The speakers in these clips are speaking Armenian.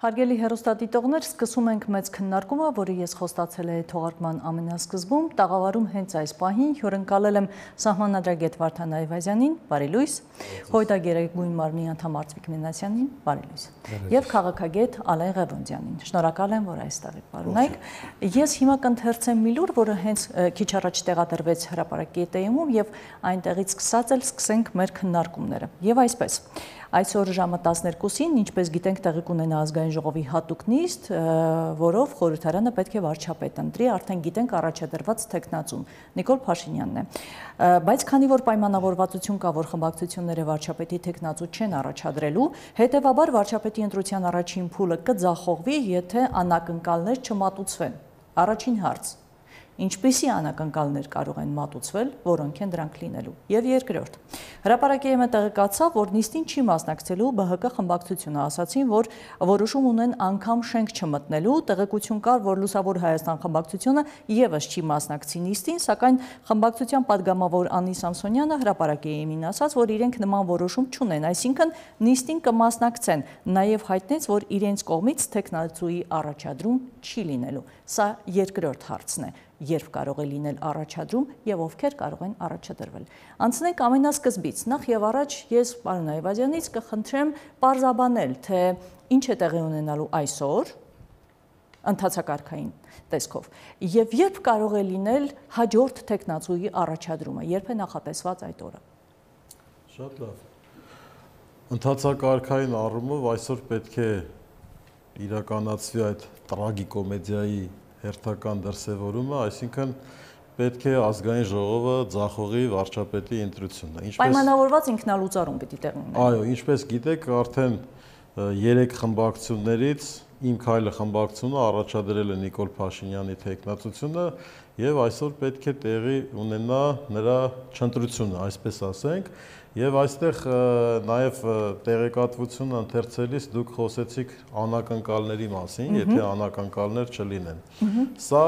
Հարգելի հեռուստադիտողներ, սկսում ենք մեծ քննարկումը, որը ես խոստացել եմ թողարկման ամենասկզբում, տաղավարում հենց այս պահին հյուրընկալել եմ սահմանադրագետ Վարդան Այվազյանին, բարի լույս, Հույդագերագույն մարմնի անդամ Արծվիկ Մինասյանին, բարի լույս, եւ քաղաքագետ Ալեն Ղևոնդյանին։ Շնորհակալ եմ, որ այստեղ եք պարունակել։ Ես հիմա կընթերցեմ մի լուր, որը հենց քիչ առաջ տեղադրվեց հրապարակի էտեյումում եւ այնտեղից սկսած էլ սկսենք մեր քննարկումները։ Եվ այսպես Այսօր ժամը 12-ին, ինչպես գիտենք, տեղի կունենա ազգային ժողովի հատուկ նիստ, որով խորհրդարանը պետք է վարչապետ ընտրի, արդեն գիտենք առաջադրված թեկնածուն Նիկոլ Փաշինյանն է։ Բայց քանի որ պայմանավորվածություն կա, որ խմբակցությունները վարչապետի թեկնածու չեն առաջադրելու, հետևաբար վարչապետի ընտրության առաջին փուլը կձախողվի, եթե անակնկալներ չմատուցվեն։ Առաջին հարց. Ինչպիսի անակնկալներ կարող են մատուցվել, որոնք են դրանք լինելու։ Եվ երկրորդ. Հրապարակի ԵՄ տեղեկացավ, որ նիստին չի մասնակցելու ԲՀԿ խմբակցությունը, ասացին, որ որոշում ունեն անգամ շենք չմտնելու, տեղեկություն կար, որ Լուսավոր Հայաստան խմբակցությունը եւս չի մասնակցի նիստին, սակայն խմբակցության падգամավոր Անի Սամսոնյանը հրապարակի ԵՄ-ին ասաց, որ իրենք նման որոշում չունեն, այսինքն նիստին կմասնակցեն, նաեւ հայտնեց, որ իրենց կողմից թեկնածուի առաջադրում չի լինելու։ Սա երկրորդ հարցն է. Երբ կարող է լինել առաջադրում եւ ովքեր կարող են առաջադրվել։ Անցնենք ամենասկզբից։ Նախ եւ առաջ ես պարոն Այվազյանից կխնդրեմ պարզաբանել, թե ինչ է տեղի ունենալու այսօր ընթացակարգային տեսքով եւ երբ կարող է լինել հաջորդ տեխնացուի առաջադրումը, երբ է նախատեսված այդ օրը։ Շատ լավ։ Ընթացակարգային առումով այսօր պետք է իրականացվի այդ տրագիկոմեդիայի հերթական դրսևորումը, այսինքն պետք է ազգային ժողովը ձախողի վարչապետի ընտրությունը։ Պայմանավորված ինքնալուծարում պիտի տեղի ունենա։ Այո, ինչպես գիտեք, արդեն 3 խմբակցություններից Իմ քայլը խմբակցությունը առաջադրել է Նիկոլ Փաշինյանի թեկնածությունը եւ այսօր պետք է տեղի ունենա նրա չընտրությունը, այսպես ասենք, եւ այստեղ նաեւ տեղեկատվությունը ընթերցելիս դուք խոսեցիք անակնկալների մասին, եթե անակնկալներ չլինեն։ Սա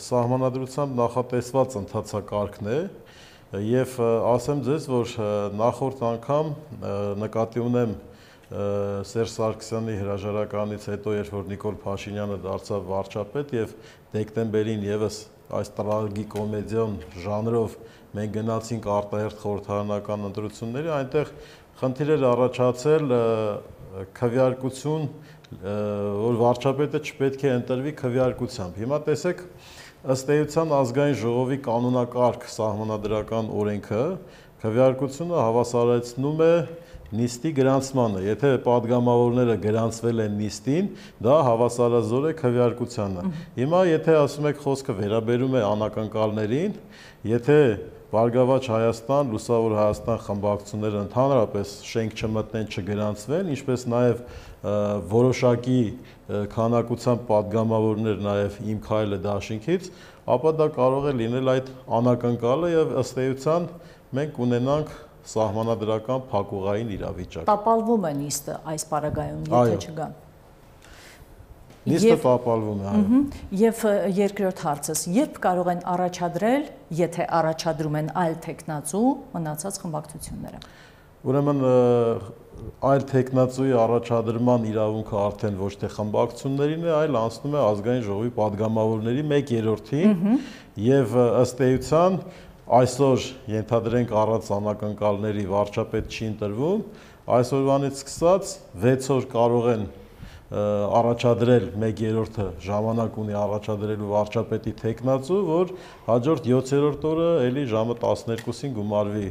սահմանադրությամբ նախատեսված ընթացակարգն է եւ ասեմ ձեզ, որ նախորդ անգամ նկատի ունեմ Սերժ Սարգսյանի հրաժարականից հետո, երբ որ Նիկոլ Փաշինյանը դարձավ վարչապետ եւ դեկտեմբերին եւս այս տրագիկոմեդիոն ժանրով մենք գնացինք արտահերթ խորհրդարանական ընտրությունների, այնտեղ խնդիր էր առաջացել քվեարկություն, որ վարչապետը չպետք է ընտրվի քվեարկությամբ։ Հիմա տեսեք, ըստ էության ազգային ժողովի կանոնակարգ սահմանադրական օրենքը քվեարկությունը հավասարեցնում է նիստի գրանցմանը, եթե падգամավորները գրանցվել են նիստին, դա հավասարազոր է քվեարկությանը։ Հիմա եթե ասում եք խոսքը վերաբերում է անակնկալներին, եթե Բարգավաճ Հայաստան, Լուսավոր Հայաստան խմբակցությունները ընդհանրապես շենք չմտնեն, չգրանցվեն, ինչպես նաև որոշակի քանակությամբ падգամավորներ նաև Իմ քայլը դաշինքից, ապա դա կարող է լինել այդ անակնկալը եւ ըստ էության մենք ունենանք սահմանադրական փակուղային իրավիճակ։ Տապալվում է նիստը այս պարագայում, եթե չգան։ Նիստը տապալվում է, այո։ Եվ երկրորդ հարցս, երբ կարող են առաջադրել, եթե առաջադրում են այլ տեխնացու, մնացած խմբակցությունները։ Ուրեմն այլ տեխնացուի առաջադրման իրավունքը արդեն ոչ թե խմբակցություններին է, այլ անցնում է ազգային ժողովի падգամավորների 1/3-ին եւ ըստ էության այսօր ենթադրենք առանց անակնկալների վարչապետ չի ընտրվում, այսօրվանից սկսած 6 օր կարող են առաջադրել 1/3-ը ժամանակ ունի առաջադրելու վարչապետի տեխնացու, որ հաջորդ 7-րդ օրը էլի ժամը 12-ին գումարվի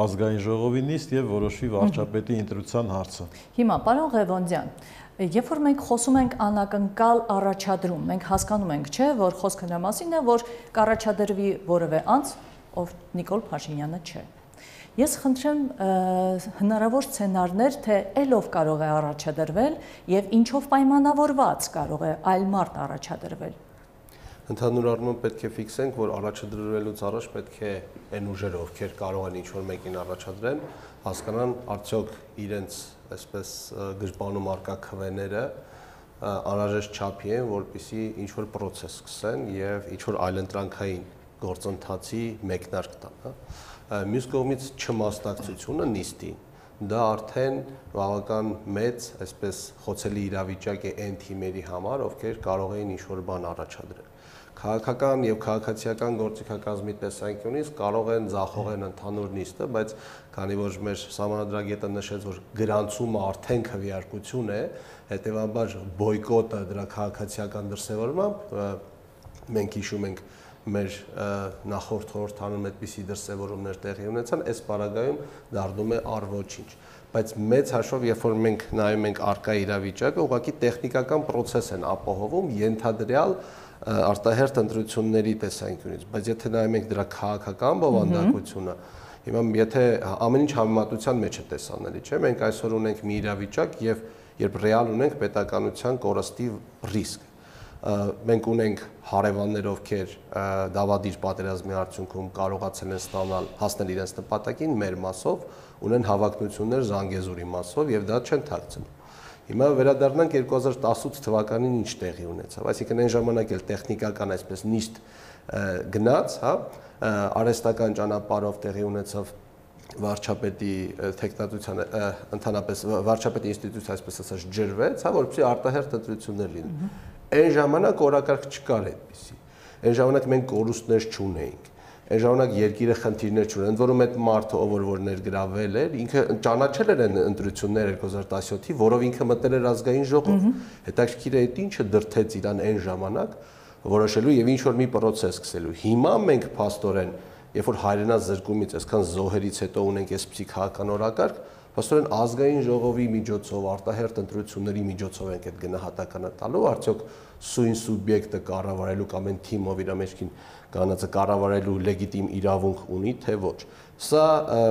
ազգային ժողովի նիստ եւ որոշվի վարչապետի ընտրության հարցը։ Հիմա պարոն Ղևոնդյան, երբ որ մենք խոսում ենք անակնկալ առաջադրում, մենք հասկանում ենք, չէ, որ խոսքը նրա մասին է, որ կառաջադրվի որևէ անձ, ով Նիկոլ Փաշինյանը չէ։ Ես խնդրեմ հնարավոր սցենարներ, թե ելով կարող է առաջադրվել եւ ինչով պայմանավորված կարող է այլ մարդ առաջադրվել։ Ընդհանուր առմամբ պետք է ֆիքսենք, որ առաջադրվելուց առաջ պետք է այն ուժերը, ովքեր կարող են ինչ-որ մեկին առաջադրեն, հասկանան արդյոք իրենց այսպես գրպանում արկա քվեները անհրաժեշտ չափի են, որպեսզի ինչ-որ process սկսեն եւ ինչ-որ այլընտրանքային գործընթացի մեկնարկ տան։ Մյուս կողմից չմասնակցությունը նիստին դա արդեն բավական մեծ, այսպես խոցելի իրավիճակ է այն թիմերի համար, ովքեր կարող էին ինչ-որ բան առաջադրել։ Քաղաքական եւ քաղաքացիական գործիքակազմի տեսանկյունից կարող են ձախողեն ընդհանուր նիստը, բայց քանի որ մեր սահմանադրագետը նշեց, որ գրանցումը արդեն քվեարկություն է, հետեւաբար բոյկոտը դրա քաղաքացիական դրսևորմամբ մենք հիշում ենք մեր նախորդ խորհրդանում այդպիսի դրսևորումներ տեղի ունեցան, այս պարագայում դառնում է առոչինչ։ Բայց մեծ հաշվով, երբ որ մենք նայում ենք արկա իրավիճակը, ուղղակի տեխնիկական process են ապահովում ենթադրյալ արտահերթ ընտրությունների տեսանկյունից, բայց եթե նայում ենք դրա քաղաքական բովանդակությունը, հիմա եթե ամեն ինչ համեմատության մեջ է տեսանելի, չէ՞, մենք այսօր ունենք մի իրավիճակ եւ երբ ռեալ ունենք պետականության կորստի ռիսկ։ Մենք ունենք հարևաններ, ովքեր դավադիր պատերազմի արդյունքում կարողացել են հասնել իրենց նպատակին մեր մասով, ունեն հավակնություններ Զանգեզուրի մասով եւ դա չեն թաքցնում։ Հիմա վերադառնանք 2018 թվականին ինչ տեղի ունեցավ, այսինքն այն ժամանակ էլ տեխնիկական այսպես նիստ գնաց, հա, արհեստական ճանապարհով տեղի ունեցավ վարչապետի տեխնատության ընդհանրապես վարչապետի ինստիտուցիա այսպես ասած ջրվեց, հա, որպեսզի արտահերթ ընտրություններ լինեն։ Այն ժամանակ օրակարգ չկար այդպիսի։ Այն ժամանակ մենք կորուստներ չունեինք։ Այն ժամանակ երկիրը խնդիրներ չուներ, ընդ որում այդ մարդը, ով որ ներգրավել էր, ինքը ճանաչել էր այն ընտրությունները 2017-ի, որով ինքը մտել էր ազգային ժողով։ Հետաքրքիր է այդ ինչը դրթեց իրան այն ժամանակ որոշելու եւ ինչ որ մի process սկսելու։ Հիմա մենք փաստորեն, երբ որ հայրենազրկումից այսքան զոհերից հետո ունենք այսպիսի քաղաքական օրակարգ, փաստորեն ազգային ժողովի միջոցով, արտահերթ ընտրությունների միջոցով ենք այդ գնահատականը տալու, արդյոք սույն սուբյեկտը կառավարելու կամ այն թիմով իր մեջքին կանածը կառավարելու լեգիտիմ իրավունք ունի, թե ոչ։ Սա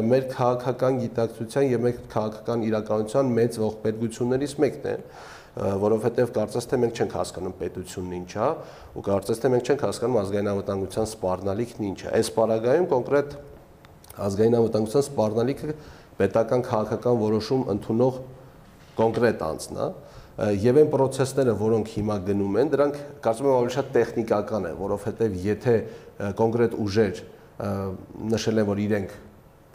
մեր քաղաքական գիտակցության եւ մեր քաղաքական իրականության մեծ ողբերգություններից մեկն է, որովհետեւ կարծես թե մենք չենք հասկանում պետությունն ինչ է, ու կարծես թե մենք չենք հասկանում ազգային անվտանգության սպառնալիքն ինչ է։ Այս պարագայում կոնկրետ ազգային անվտանգության սպառնալիքը պետական քաղաքական որոշում ընդունող կոնկրետ անձն է, եւ այն process-ները, որոնք հիմա գնում են, դրանք կարծում եմ ավելի շատ տեխնիկական են, որովհետեւ եթե կոնկրետ ուժեր նշել են, որ իրենք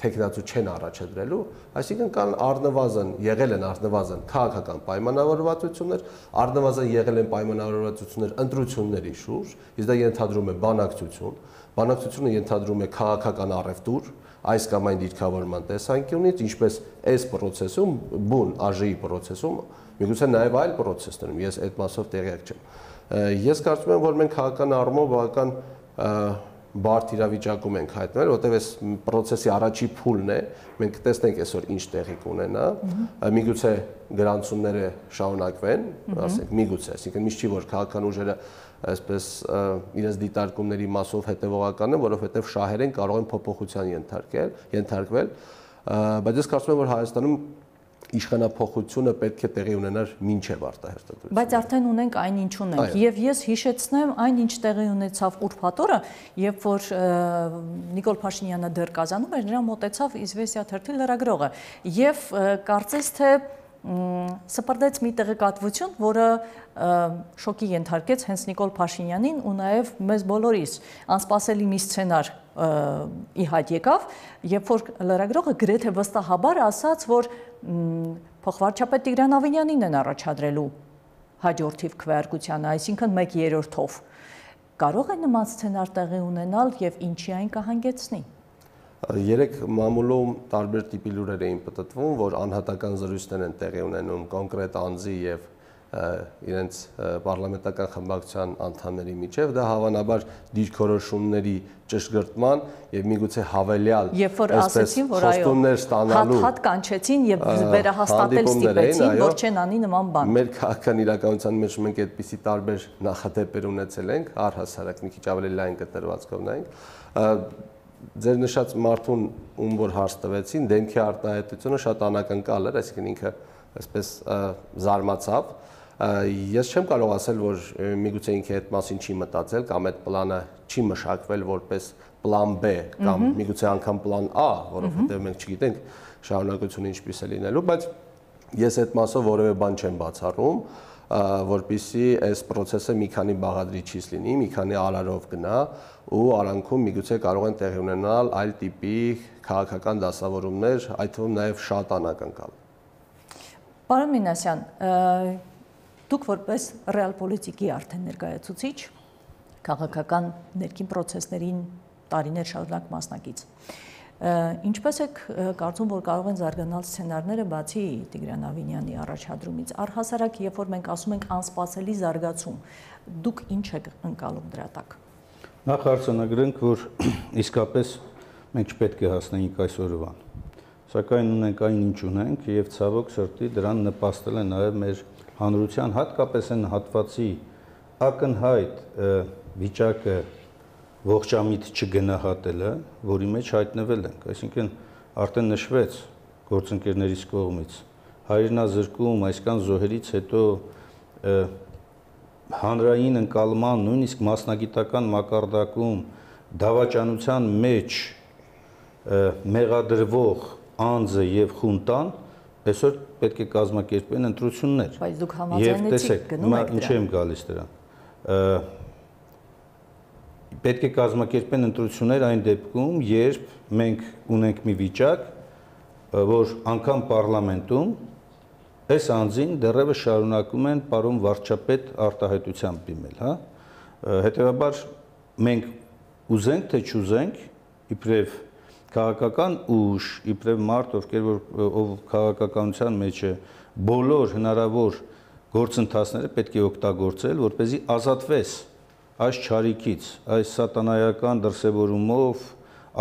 տեխնացու չեն առաջադրելու, այսինքն կան առնվազն եղել են առնվազն քաղաքական պայմանավորվածություններ, առնվազն եղել են պայմանավորվածություններ ընտրությունների շուրջ, իսկ դա ենթադրում է բանակցություն, բանակցությունը ենթադրում է քաղաքական առևտուր, այս կամ այն դիրքավորման տեսանկյունից, ինչպես այս process-ում, բուն ԱԺ-ի process-ում, միգուցե նաև այլ process-ներում, ես այդ մասով տեղյակ չեմ։ Ես կարծում եմ, որ մենք քաղաքական առումով բավական բարդ իրավիճակում ենք հայտնվել, որտեղ այս process-ի առաջի փուլն է, մենք տեսնենք այսօր ինչ տեղի կունենա, միգուցե գրանցումները շարունակվեն, ասենք միգուցե, այսինքն միշտ չի որ քաղաքական ուժերը այսպես իրենց դիտարկումների մասով հետևողական են, որովհետև շահերեն կարող են փոփոխության ենթարկվել, բայց ես կարծում եմ, որ Հայաստանում իշխանափոխությունը պետք է տեղի ունենար մինչև արտահերթ ընտրությունները։ Բայց արդեն ունենք այն ինչ ունենք, եւ ես հիշեցնեմ այն ինչ տեղի ունեցավ ուրբաթ օրը, երբ որ Նիկոլ Փաշինյանը դեռ Կազանում էր, նրան մոտեցավ Իզվեստիա թերթի լրագրողը եւ կարծես թե սպրդեց մի տեղեկատվություն, որը շոկի ենթարկեց հենց Նիկոլ Փաշինյանին ու նաև մեզ բոլորիս անսպասելի մի սցենար ի հայտ եկավ, երբ որ լրագրողը գրեթե վստահաբար ասաց, որ փոխվարչապետ Տիգրան Ավինյանին են առաջադրելու հաջորդիվ քվեարկությանը, այսինքն 1/3-ով։ Կարող է նման սցենար տեղի ունենալ եւ ինչի այն կհանգեցնի։ Երեք մամուլում տարբեր տիպի լուրեր էին պտտվում, որ անհատական զրույցներ են տեղի ունենում կոնկրետ անձի եւ իրենց պարլամենտական խմբակցության անդամների միջև, դա հավանաբար դիրքորոշումների ճշգրտման եւ միգուցե հավելյալ խոստումներ ստանալու հատ կանչեցին եւ վերահաստատել ստիպեցին, որ չեն անի նման բան։ Մեր քաղաքական իրականության մեջ մենք այդպիսի տարբեր նախադեպեր ունեցել ենք, առհասարակ մի քիչ ավելի լայն կտրվածքով նայենք։ Ձեր նշած մարդուն ում որ հարց տվեցին, դեմքի արտահայտությունը շատ անակնկալ էր, այսինքն ինքը այսպես զարմացավ։ Ես չեմ կարող ասել, որ միգուցե ինքը այդ մասին չի մտածել կամ այդ պլանը չի մշակվել որպես պլան B կամ միգուցե անգամ պլան A, որովհետև մենք չգիտենք շարունակությունը ինչպես է լինելու, բայց ես այդ մասով որևէ բան չեմ բացառում, որպեսզի այս process-ը մի քանի բաղադրիչից լինի, մի քանի արարով գնա ու արանքում միգուցե կարող են տեղի ունենալ այլ տիպի քաղաքական դասավորումներ, այդ թվում նաև շատ անակնկալ։ Պարոն Մինասյան, դուք որպես ռեալպոլիտիկի արդեն ներկայացուցիչ, քաղաքական ներքին պրոցեսներին տարիներ շարունակ մասնակից։ Ինչպես եք կարծում, որ կարող են զարգանալ սցենարները բացի Տիգրան Ավինյանի առաջադրումից, առհասարակ, երբ որ մենք ասում ենք անսպասելի զարգացում, դուք ինչ եք ընկալում դրա տակ։ Նախ արձանագրենք, որ իսկապես մենք չպետք է հասնենք այս օրվան։ Սակայն ունենք այն ինչ ունենք եւ ցավոք սրտի դրան նպաստել է նաեւ մեր հանրության, հատկապես այն հատվածի ակնհայտ վիճակը ողջամիտ չգնահատելը, որի մեջ հայտնվել ենք, այսինքն արդեն նշվեց գործընկերներից կողմից հայրենազրկում, այսքան զոհերից հետո հանրային ընկալման, նույնիսկ մասնագիտական մակարդակում դավաճանության մեջ մեղադրվող անձը եւ խունտան այսօր պետք է կազմակերպեն ընտրություններ։ Բայց դուք համաձայնեցիք գնում եք դրան։ Ինչ եմ գալիս դրան։ Պետք է կազմակերպեն ընտրություններ այն դեպքում, երբ մենք ունենք մի վիճակ, որ անգամ պարլամենտում այս անձին դեռևս շարունակում են պարոն վարչապետ արտահայտությամբ դիմել, հա։ Հետևաբար մենք ուզենք թե չուզենք, իբրև քաղաքական ուժ, իբրև մարդ, ով քաղաքականության մեջ է, բոլոր հնարավոր գործընթացները պետք է օգտագործել, որպեսզի ազատվես այս չարիքից, այս սատանայական դրսևորումով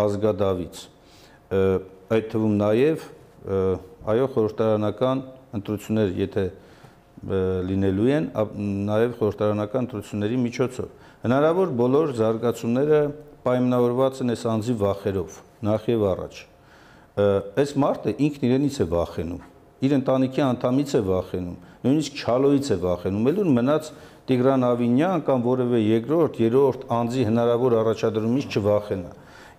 ազգադավից։ Այդ թվում նաև այո խորհրդարանական ընտրություններ, եթե լինելու են, նաև խորհրդարանական ընտրությունների միջոցով։ Հնարավոր բոլոր զարգացումները պայմանավորված են այս անձի վախերով, նախ եւ առաջ։ Այս մարդը ինքն իրենից է վախենում, իր ընտանիքի անդամից է վախենում, նույնիսկ Չալոյից է վախենում, ելուն մնաց Տիգրան Ավինյան կամ որևէ երկրորդ, երրորդ անձի հնարավոր առաջադրումից չվախենա։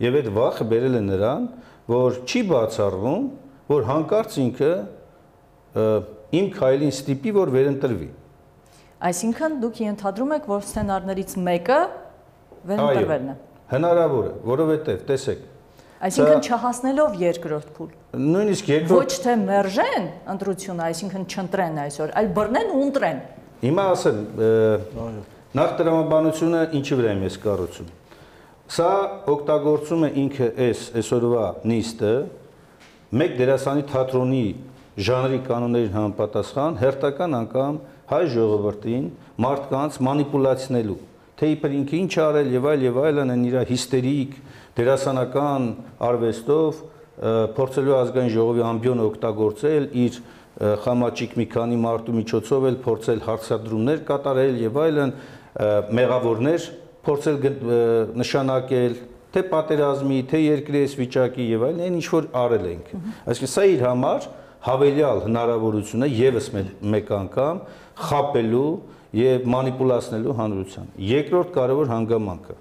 Եվ այդ վախը բերել է նրան, որ չի բացառվում, որ հանկարծ ինքը իմ քայլին ստիպի, որ վերընտրվի։ Այսինքն դուք ենթադրում եք, որ սցենարներից մեկը վերընտրվելն է։ Հնարավոր է, որովհետև տեսեք։ Այսինքն չհասնելով երկրորդ փուլ։ Նույնիսկ երկրորդ Ոչ թե մերժեն ընտրությունը, այսինքն չընտրեն այսօր, այլ բռնեն ու ընտրեն։ Հիմա ասեմ, նախ տրամաբանությունը ինչի վրա եմ ես կառուցում։ Սա օգտագործում է ինքը այսօրվա նիստը մեկ դերասանի թատրոնի ժանրի կանոններին համապատասխան հերթական անգամ հայ ժողովրդին մարդկանց մանիպուլացնելու, թե իբր ինքը ինչ արել եւ այլն են իր հիստերիկ դերասանական արվեստով փորձելու ազգային ժողովի ամբիոնը օգտագործել իր խամաճիկ մի քանի մարդու միջոցով էլ փորձել հարցադրումներ կատարել եւ այլն մեղավորներ փորձել նշանակել թե պատերազմի, թե երկրի այս վիճակի եւ այլն, այն ինչ որ արել ենք։ Այսինքն սա իր համար հավելյալ հնարավորություն է եւս մեկ անգամ խաբելու եւ մանիպուլացնելու հանրության։ Երկրորդ կարևոր հանգամանքը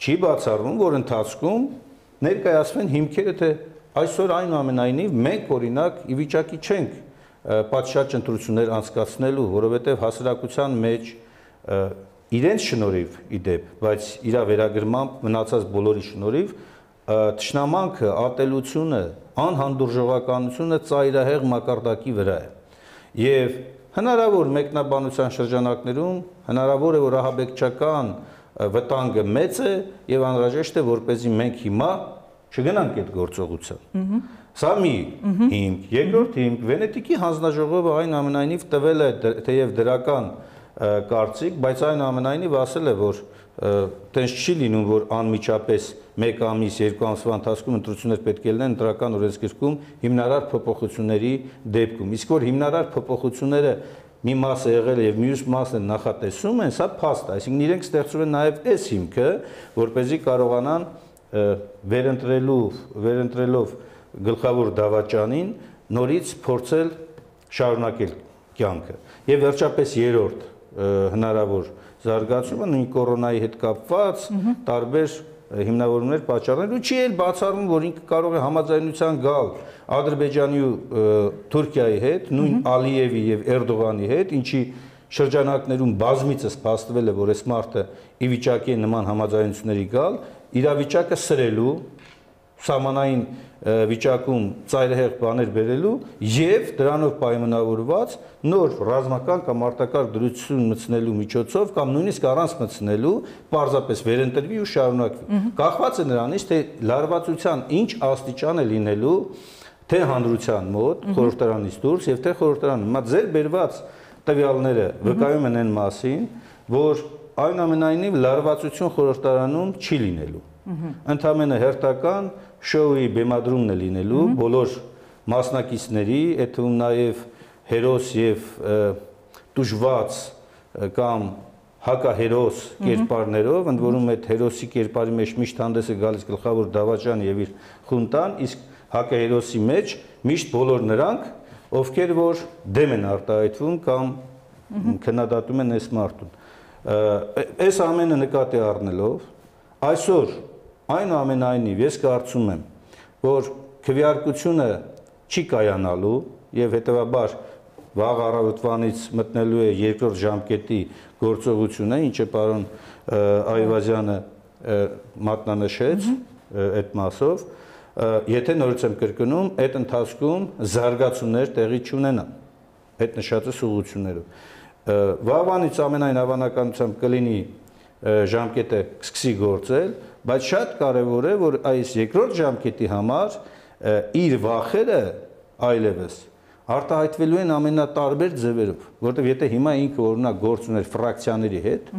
չի բացառվում, որ ընթացքում ներկայացվեն հիմքերը, թե այսօր այնուամենայնիվ մենք օրինակ ի վիճակի չենք պատշաճ ընտրություններ անցկացնելու, որովհետև հասարակության մեջ իրենց շնորհիվ իդեպ, բայց իր վերագրմամբ մնացած բոլորի շնորհիվ թշնամանքը, ատելությունը, անհանդուրժողականությունը ծայրահեղ մակարդակի վրա է։ Եվ հնարավոր մեկնաբանության շրջանակներում հնարավոր է, որ ահաբեկչական վտանգը մեծ է եւ անհրաժեշտ է, որպեսզի մենք հիմա չգնանք այդ գործողության։ Սա մի հիմք, երկրորդ հիմք, Վենետիկի հանձնաժողովը այնուամենայնիվ տվել է թեև դրական կարծիք, բայց այնուամենայնիվ ասել է, որ տենց չի լինում, որ անմիջապես 1 ամիս, 2 ամսվա ընթացքում ընտրություններ պետք է լինեն ընտրական օրենսգրքում հիմնարար փոփոխությունների դեպքում։ Իսկ որ հիմնարար փոփոխությունները մի մասը եղել է եւ մյուս մասը նախատեսում են, սա փաստ է, այսինքն իրենք ստեղծում են նաեւ այս հիմքը, որպեսզի կարողանան վերընտրելով գլխավոր դավաճանին նորից փորձել շարունակել կյանքը։ Եվ վերջապես երրորդ հնարավոր զարգացումը նույն կորոնայի հետ կապված տարբեր հիմնավորումներ պատճառներ ու չի էլ բացառվում, որ ինքը կարող է համաձայնության գալ Ադրբեջանի ու Թուրքիայի հետ, նույն Ալիևի եւ Էրդողանի հետ, ինչի շրջանակներում բազմիցս փաստվել է, որ այս մարդը ի վիճակի է նման համաձայնությունների գալ, իրավիճակը սրելու, սահմանային վիճակում ծայրահեղ բաներ բերելու եւ դրանով պայմանավորված նոր ռազմական կամ արտակարգ դրություն մտցնելու միջոցով կամ նույնիսկ առանց մտցնելու պարզապես վերընտրվի ու շարունակվի։ Կախված է նրանից, թե լարվածության ինչ աստիճան է լինելու թե հանրության մոտ խորհրդարանից դուրս եւ թե խորհրդարանում։ Հիմա ձեր բերված տվյալները վկայում են այն մասին, որ այնուամենայնիվ լարվածություն խորհրդարանում չի լինելու։ Ընդհանրապես հերթական շոուի բեմադրումն է լինելու բոլոր մասնակիցների, այդ թվում նաև հերոս եւ տուժված կամ հակահերոս կերպարներով, ընդ որում այդ հերոսի կերպարի մեջ միշտ հանդես է գալիս գլխավոր դավաճանը եւ իր խունտան, իսկ հակահերոսի մեջ միշտ բոլոր նրանք, ովքեր որ դեմ են արտահայտվում կամ քննադատում են այս մարդուն։ Այս ամենը նկատի առնելով, այսօր այնուամենայնիվ ես կարծում եմ, որ քվեարկությունը չի կայանալու եւ հետեւաբար վաղ առավոտվանից մտնելու է երկրորդ ժամկետի գործողությունը, ինչը պարոն Այվազյանը մատնանշեց այդ մասով, եթե նորից եմ կրկնում, այդ ընթացքում զարգացումներ տեղի չունենան այդ նշածս ուղղություններով։ Վաղվանից ամենայն հավանականությամբ կլինի ժամկետը սկսի գործել, բայց շատ կարևոր է, որ այս երկրորդ ժամկետի համար իր վախերը այլևս արտահայտվելու են ամենատարբեր ձևերով, որովհետև եթե հիմա ինքը օրինակ գործ ուներ ֆրակցիաների հետ,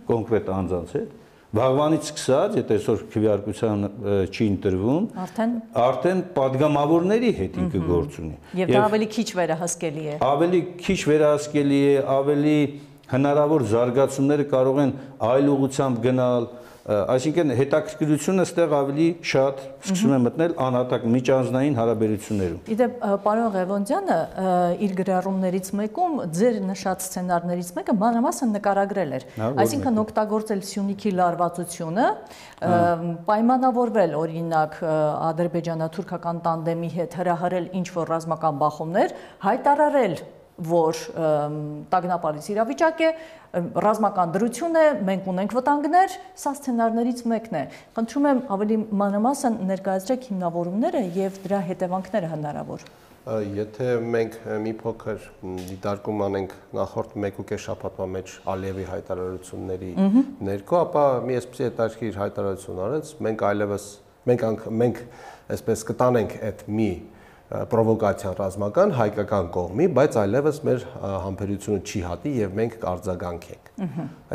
կոնկրետ անձանց հետ, վաղվանից սկսած, եթե այսօր քվեարկության չի ընտրվում, արդեն падգամավորների հետ ինքը գործ ունի։ Եվ դա ավելի քիչ վերահսկելի է։ Ավելի քիչ վերահսկելի է, ավելի հնարավոր զարգացումները կարող են այլ ուղղությամբ գնալ, այսինքն հետաքրքրությունը ստեղ ավելի շատ սկսում է մտնել անհատակ միջանձնային հարաբերություններում։ Իդեպ պարոն Ղևոնդյանը իր գրառումներից մեկում ձեր նշած սցենարներից մեկը մանրամասն նկարագրել էր, այսինքն օգտագործել Սյունիքի լարվածությունը, պայմանավորվել օրինակ ադրբեջանա-թուրքական տանդեմի հետ հրահրել ինչ-որ ռազմական բախումներ, հայտարարել որ տագնապալից իրավիճակ է, ռազմական դրություն է, մենք ունենք վտանգներ, սա սցենարներից մեկն է։ Խնդրում եմ ավելի մանրամասն ներկայացրեք հիմնավորումները եւ դրա հետևանքները հնարավոր։ Եթե մենք մի փոքր դիտարկում անենք նախորդ 1.5 շաբաթվա մեջ Ալիևի հայտարարությունների ներքո, ապա մի այսպիսի հետաքրքիր հայտարարություն արեց, մենք այլևս մենք այսպես կտանենք այդ մի պրովոկացիան ռազմական հայկական կողմի, բայց այլևս մեր համբերությունը չի հատի եւ մենք կարձագանքենք։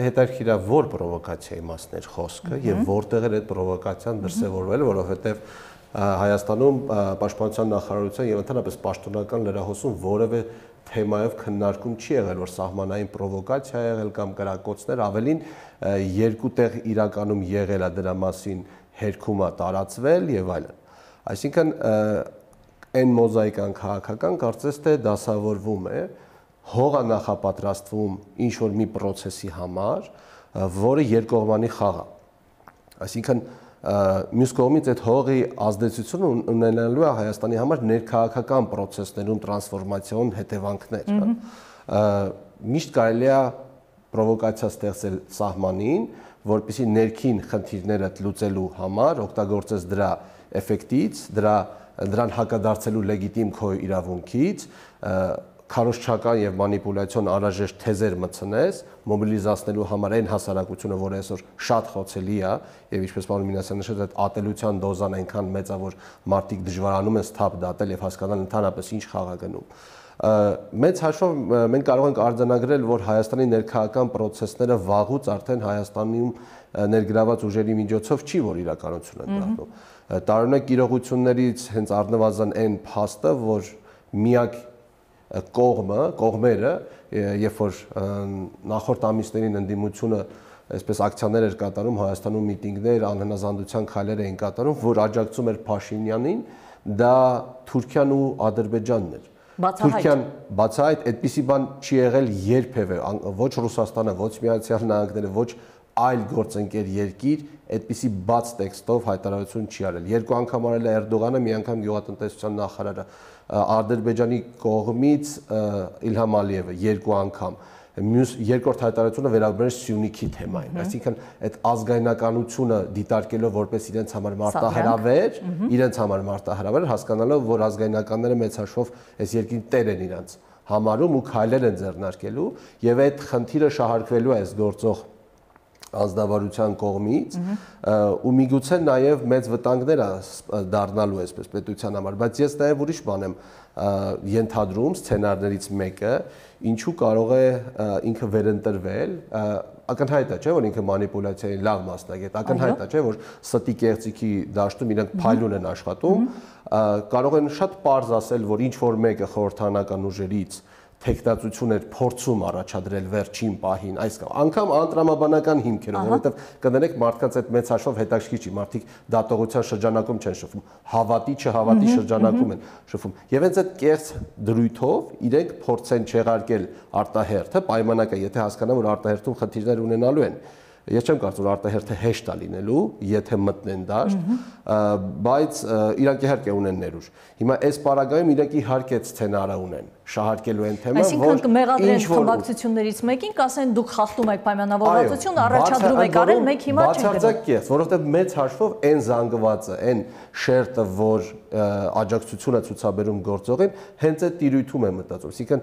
Հետաքրքիր է որ պրովոկացիայի մասն էր խոսքը եւ որտեղ էր այդ պրովոկացիան դրսեւորվել, որովհետեւ Հայաստանում պաշտպանության նախարարության եւ ընդհանրապես պաշտոնական լրահոսում որևէ թեմայով քննարկում չի եղել, որ սահմանային պրովոկացիա եղել կամ կրակոցներ, ավելին երկու տեղ իրականում եղել է դրա մասին հերքումա տարածվել եւ այլն։ Այսինքն այն մոզաիկան քաղաքական կարծես թե դասավորվում է, հող է նախապատրաստվում ինչ-որ մի պրոցեսի համար, որը երկկողմանի խաղ է։ Այսինքն մյուս կողմից այդ հողի ազդեցությունը ունենալու է Հայաստանի համար ներքաղաքական պրոցեսներում տրանսֆորմացիոն հետևանքներ։ Միշտ կարելի է պրովոկացիա ստեղծել սահմանին, որպեսզի ներքին խնդիրները լուծելու համար օգտագործես դրա էֆեկտից, դրան հակադարձելու լեգիտիմ քո իրավունքից, քարոզչական եւ մանիպուլյացիոն անհրաժեշտ թեզեր մտցնես, մոբիլիզացնելու համար այն հասարակությունը, որը այսօր շատ խոցելի է, եւ ինչպես պարոն Մինասյանը նշեց, այդ ատելության դոզան այնքան մեծ է, որ մարդիկ դժվարանում են սթափ դատել եւ հասկանալ ընդհանրապես ինչ խաղ է գնում։ Մեծ հաշվով մենք կարող ենք արձանագրել, որ Հայաստանի ներքաղաքական պրոցեսները վաղուց արդեն Հայաստանում ներգրաված ուժերի միջոցով չի, որ իրականություն են դառնում։ Տարօրինակ իրողություններից հենց առնվազն այն փաստը, որ միակ կողմերը, երբ որ նախորդ ամիսներին ընդդիմությունը այսպես ակցիաներ էր կատարում Հայաստանում, միտինգներ, անհնազանդության քայլեր էին կատարում, որ աջակցում էր Փաշինյանին, դա Թուրքիան ու Ադրբեջանն էր։ Թուրքիան բացահայտ այդպիսի բան չի եղել երբևէ, ոչ Ռուսաստանը, ոչ Միացյալ Նահանգները, ոչ այլ գործընկեր երկիր այդպիսի բաց տեքստով հայտարարություն չի արել։ Երկու անգամ արել է Էրդողանը, մի անգամ գյուղատնտեսության նախարարը, Ադրբեջանի կողմից Իլհամ Ալիևը երկու անգամ։ Մյուս երկրորդ հայտարարությունը վերաբերում է Սյունիքի թեմային, այսինքն այդ ազգայնականությունը դիտարկելով որպես իրենց համար մարտահրավեր, հասկանալով, որ ազգայնականները մեծ հաշվով այս երկրի տեր են իրանց համարում ու քայլեր են ձեռնարկելու եւ այդ խնդիրը շահարկվելու է այս գործող ազնվարության կողմից ու միգուցե նաև մեծ վտանգներ դառնալու այսպես պետության համար, բայց ես նաև ուրիշ բան եմ ենթադրում սցենարներից մեկը, ինչու կարող է ինքը վերընտրվել, ակնհայտ է, չէ՞, որ ինքը մանիպուլյացիայի լավ մասնագետ, ակնհայտ է, չէ՞, որ ստի կեղծիքի դաշտում իրենք փայլուն են աշխատում, կարող են շատ պարզ ասել, որ ինչ որ մեկը խորհրդանական ուժերից թեկնածություն էր փորձում առաջադրել վերջին պահին, այս անգամ անտրամաբանական հիմքերով, որովհետև կդնեք մարդկանց այդ մեծ հաշվով հետաքրքիր չի, մարդիկ դատողության շրջանակում չեն շփվում, հավատի չհավատի շրջանակում են շփվում։ Եվ հենց այդ կեղծ դրույթով իրենք փորձեն չեղարկել արտահերթը, պայմանական, եթե հասկանան, որ արտահերթում խնդիրներ ունենալու են։ Ես չեմ կարծում, որ արտահերթը հեշտ է լինելու, եթե մտնեն դաշտ, բայց իրանք իհարկե ունեն ներուժ։ Հիմա այս պարագայում իրանք իհարկե սցենարը ունեն, շահարկելու են թեման, որ մեղադրեն խմբակցություններից մեկին, կասեն դուք խախտում եք պայմանավորվածություն, առաջադրում եք արել, մենք հիմա չենք գնում։ Բացարձակ կեղծ, որովհետև մեծ հաշվով այն զանգվածը, այն շերտը, որ աջակցությունը ցուցաբերում գործողին, հենց այդ տիրույթում է մտածում, այսինքն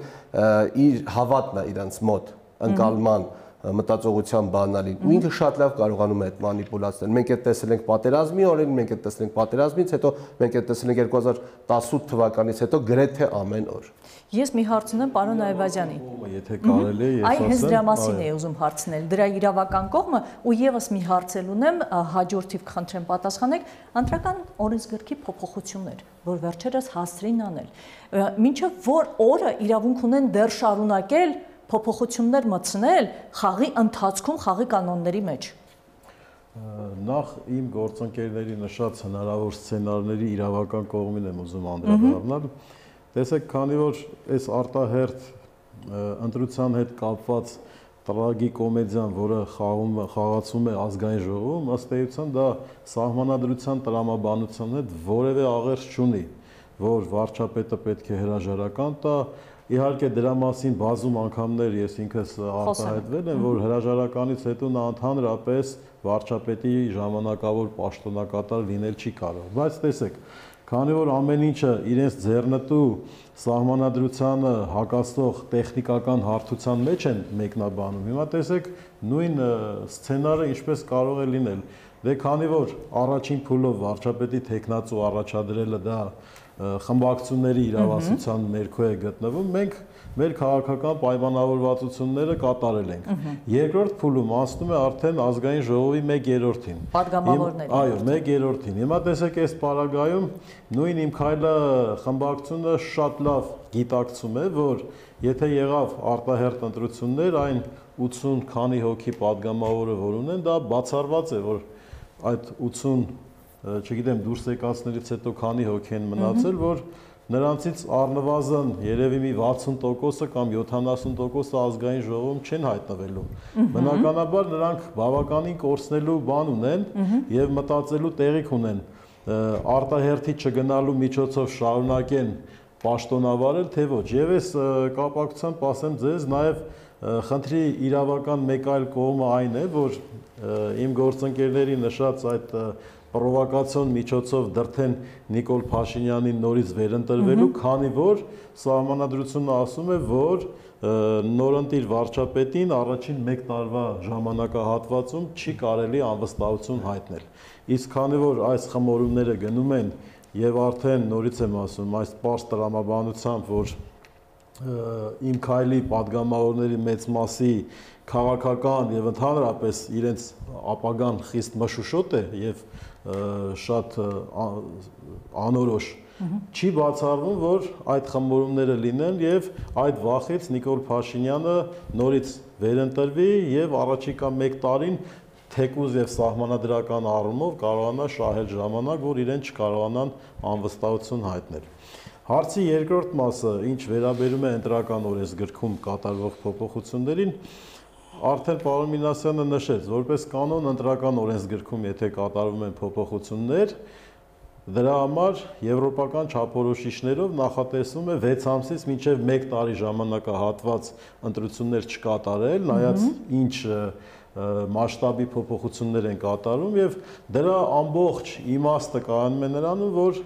իր հավատն է իրանց մոտ ընկալման մտածողության բանալին ու ինքը շատ լավ կարողանում է այդ մանիպուլացնել։ Մենք այդ տեսել ենք պատերազմի օրերին, մենք այդ տեսել ենք պատերազմից հետո, մենք այդ տեսել ենք 2018 թվականից հետո գրեթե ամեն օր։ Ես մի հարց ունեմ պարոն Այվազյանին։ Եթե կարելի է, ես ասեմ։ Այ հենց դրա մասին էի ուզում հարցնել, դրա իրավական կողմը ու եւս մի հարց էլ ունեմ, հաջորդիվ կխնդրեմ պատասխանեք, ընտրական օրենսգրքի փոփոխություններ, որ վերջերս հասցրին անել։ Մինչև որ օրը իրավունք ունեն դեռ շարունակել փոփոխություններ մտցնել խաղի ընթացքում խաղի կանոնների մեջ։ Նախ իմ գործընկերների նշած հնարավոր սցենարների իրավական կողմին եմ ուզում անդրադառնալ։ Տեսեք, քանի որ այս արտահերթ ընտրության հետ կապված տրագիկոմեդիան, որը խաղացում է ազգային ժողովում, ըստ էության դա սահմանադրության տրամաբանության հետ որևէ աղերս չունի, որ վարչապետը պետք է հրաժարական տա։ Իհարկե դրա մասին բազում անգամներ ես ինքս արտահայտվել եմ, որ հրաժարականից հետո նա ընդհանրապես վարչապետի ժամանակավոր պաշտոնակատար լինել չի կարող։ Բայց տեսեք, քանի որ ամեն ինչը իրենց ձեռնտու սահմանադրությանը հակասող տեխնիկական հարթության մեջ են մեկնաբանում, հիմա տեսեք նույն սցենարը ինչպես կարող է լինել։ Դե քանի որ առաջին փուլով վարչապետի թեկնածու առաջադրելը դա խմբակցությունների իրավասության ներքո է գտնվում, մենք մեր քաղաքական պայմանավորվածությունները կատարել ենք։ Երկրորդ փուլում անցնում է արդեն ազգային ժողովի 1/3-ին։ Պատգամավորների։ Այո, 1/3-ին։ Հիմա տեսեք այս պարագայում նույն Իմ Քայլը խմբակցությունը շատ լավ գիտակցում է, որ եթե եղավ արտահերթ ընտրություններ, այն 80 քանի հոգի պատգամավորը որ ունեն, դա բացառված է, որ այդ 80 չգիտեմ դուրս եկածներից հետո քանի հոգի են մնացել, որ նրանցից առնվազն երևի մի 60%-ը կամ 70%-ը ազգային ժողովում չեն հայտնվելու։ Բնականաբար նրանք բավականին կորցնելու բան ունեն եւ մտածելու տեղիք ունեն արտահերթի չգնալու միջոցով շարունակեն պաշտոնավարել, թե ոչ։ Եվ այս կապակցությամբ ասեմ ձեզ նաեւ խնդրի իրավական մեկ այլ կողմը այն է, որ իմ գործընկերների նշած այդ պրովոկացիոն միջոցով դրթեն Նիկոլ Փաշինյանին նորից վերընտրվելու, քանի որ սահմանադրությունը ասում է, որ նորընտիր վարչապետին առաջին 1 տարվա ժամանակահատվածում չի կարելի անվստահություն հայտնել։ Իսկ քանի որ այս խմորումները գնում են եւ արդեն նորից եմ ասում, այս պարզ տրամաբանությամբ, որ Իմ Քայլի պատգամավորների մեծ մասի քաղաքական եւ ընդհանրապես իրենց ապագան խիստ մշուշոտ է եւ շատ անորոշ չի բացառվում, որ այդ խմորումները լինեն եւ այդ վախից Նիկոլ Փաշինյանը նորից վերընտրվի եւ առաջիկա 1 տարին թեկուզ եւ սահմանադրական առումով կարողանա շահել ժամանակ, որ իրեն չկարողանան անվստահություն հայտնել։ Հարցի երկրորդ մասը, ինչ վերաբերում է ընտրական օրենսգրքում կատարվող փոփոխություններին, արդեն պարոն Մինասյանը նշեց, որպես կանոն ընտրական օրենսգրքում եթե կատարվում են փոփոխություններ, Դրա համար եվրոպական չափորոշիչներով նախատեսվում է 6 ամսից մինչև 1 տարի ժամանակահատված ընտրություններ չկատարել, նայած ինչ մասշտաբի փոփոխություններ են կատարում եւ դրա ամբողջ իմաստը կայանում է նրանում, որ